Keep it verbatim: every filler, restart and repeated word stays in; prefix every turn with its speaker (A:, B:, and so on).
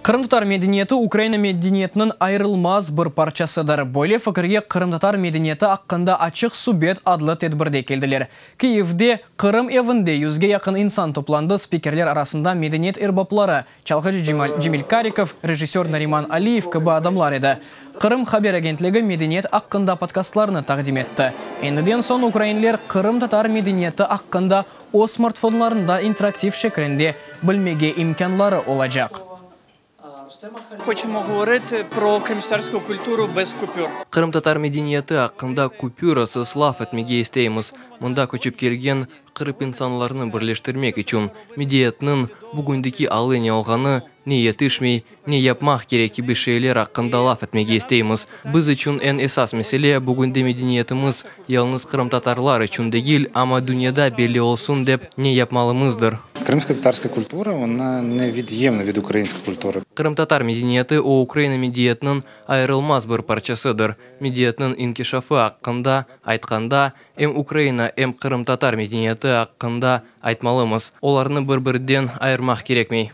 A: Qırımtatar medeniyeti Ukraina medeniyetiniñ ayırılmaz bir parçasıdır. Böyle fikirge qırımtatar medeniyeti aqqında açıq subet adlı tedbirde keldiler. Kiyevde Qırım evinde yüzge yaqın insan toplandı. Spikerler arasında medeniyet erbapları çalğıcı Cemil Karikov, rejissör Nariman Aliyev kibi adamlar edi. Qırım haber agentligi medeniyet aqqında podkastlarını taqdim etti. Endiden soñ ukrainler qırımtatar medeniyeti aqqında öz smartfonlarında interaktiv şeklinde bilmege imkânları olacaq.
B: Хочемо говорити про кримськотатарську культуру без купюр.
C: Qırımtatar medeniyeti aqqında kupürasız laf etmege isteymiz. Mında köçip kelgen Qırım insanlarını birleştirmek içün medeniyetniñ bugündeki alı ne olğanı, ne yetişmey, ne yapmaq kerek kibi şeyler aqqında laf etmege isteymiz. Biz içün eñ esas mesele bugünde medeniyetimiz yalıñız qırımtatarlar içün degil, amma dünyada belli olsun dep ne yapmalımızdır.
D: Крымско-татарская культура, вона невід'ємна від української культури.
C: Qırımtatar medeniyeti o Ukraina medeniyetiniñ ayırılmaz bir parçasıdır. Medeniyetniñ inkişafı aqqında aytqanda, em Ukraina, em qırımtatar medeniyeti aqqında aytmalımız. Olarnı bir-birinden ayırmaq kerekmey.